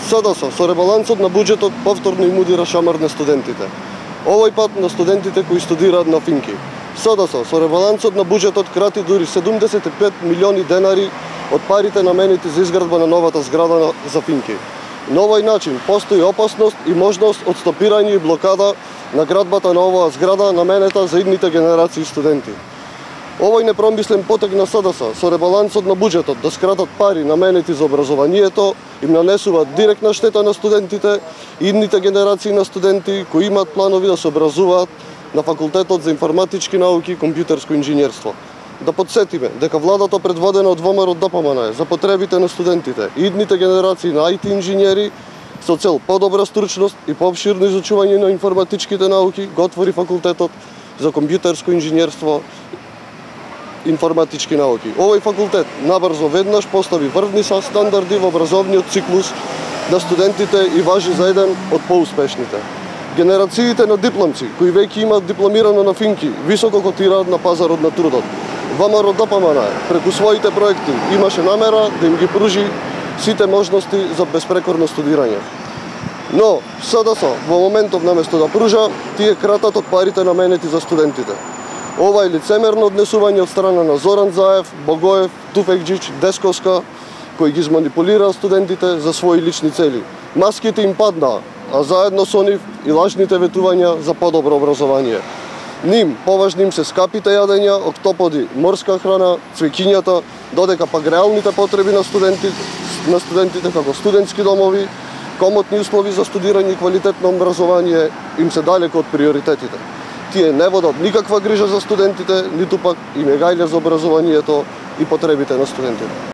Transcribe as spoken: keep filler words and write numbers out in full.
СДС со ребалансот на буџетот повторно им удира шамар на студентите. Овој пат на студентите кои студираат на Финки. СДС со ребалансот на буџетот крати дури седумдесет и пет милиони денари од парите наменети за изградба на новата зграда за Финки. На овој начин постои опасност и можност од стопирање и блокада на градбата на оваа зграда наменета за идните генерации студенти. Овој непромислен потег на СДС со ребалансот на буџетот да скратат пари наменети за образованието им нанесуваат директна штета на студентите и идните генерации на студенти кои имаат планови да се образуваат на Факултетот за информатички науки и компјутерско инженерство. Да подсетиме дека владата предводена од ВМРО ДПМН за потребите на студентите и идните генерации на ай ти инженери со цел подобра стручност и поопширно изучување на информатичките науки го отвори Факултетот за компјутерско инженерство информатички науки. Овој факултет набрзо веднаш постави врвни стандарди во образовниот циклус на студентите и важи за еден од поуспешните. Генерациите на дипломци кои веќе имаат дипломирано на Финки високо котираат на пазарот на трудот. ВМРО ДПМН преку своите проекти имаше намера да им ги пружи сите можности за безпрекорно студирање. Но СДС во моментов наместо да пружа, тие кратат од парите наменети за студентите. Ова е лицемерно однесување од страна на Зоран Заев, Богоев, Туфекџич, Десковска, кои ги изманипулираа студентите за своји лични цели. Маските им паднаа, а заедно со нив и лажните ветувања за подобро образование. Ним поважни им се скапите јадења, октоподи, морска храна, цвеќињата, додека пак реалните потреби на студентите, на студентите како студентски домови, комотни услови за студирање и квалитетно образование им се далеко од приоритетите. Тие не водат никаква грижа за студентите, ниту пак им е гајле за образованието и потребите на студентите.